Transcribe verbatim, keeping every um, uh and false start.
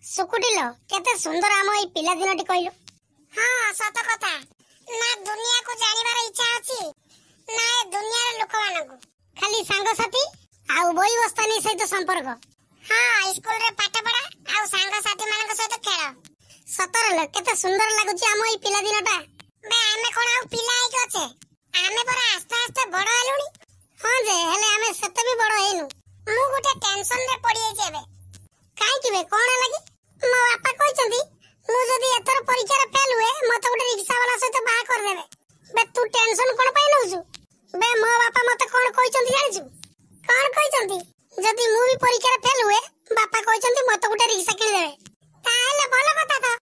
ସୁକୁଟିଲୋ, କେତେ ସୁନ୍ଦର ଆମ ଏଇ ପିଲାଦିନଟି କହିଲୁ। ହଁ, ସତ କଥା। ନା ଦୁନିଆକୁ ଜାଣିବାର ଇଚ୍ଛା ଅଛି, ନା ଏ ଦୁନିଆର ଲୋକମାନଙ୍କୁ। ଖାଲି ସାଙ୍ଗସାଥି ଆଉ ବହି ବସ୍ତାନି ସହିତ ସମ୍ପର୍କ। ହଁ, ସ୍କୁଲରେ ପାଠ ପଢା ଆଉ ସାଙ୍ଗସାଥି ମାନଙ୍କ ସହିତ ଖେଳ। ସତରେ ଲୋ, କେତେ ସୁନ୍ଦର ଲାଗୁଛି ଆମ ଏଇ ପିଲାଦିନଟା। ବେ, ଆମେ କଣ ଆଉ ପିଲା ହେଇକି ଅଛେ? ଆମେ ପରା ଆସ୍ତେ ଆସ୍ତେ ବଡ ହେଲୁଣି। ହଁ ଯେ, ହେଲେ ଆମେ ସେତେ ବି ବଡ ହେଇନୁ। ମୁଁ ଗୋଟେ ଟେନସନରେ ପଡିଯାଇଛି ଏବେ। କାହିଁକି ବେ, କଣ ହେଲା କି? ମୋ ବାପା କହିଛନ୍ତି, ମୁଁ ଯଦି ଏଥର ପରୀକ୍ଷାରେ ଫେଲ ହୁଏ, ମତେ ଗୋଟେ ରିକ୍ସା ବାଲା ସହିତ ବାହା କରିଦେବେ। ବେ, ତୁ ଟେନସନ କଣ ପାଇଁ ନଉଛୁ ବେ? ମୋ ବାପା ମତେ କଣ କହିଛନ୍ତି ଜାଣିଛୁ? କଣ କହିଛନ୍ତି? ଯଦି ମୁଁ ବି ପରୀକ୍ଷାରେ ଫେଲ ହୁଏ, ବାପା କହିଛନ୍ତି ମତେ ଗୋଟେ ରିକ୍ସା କିଣିଦେବେ। ତାହେଲେ ଭଲ କଥା ତ।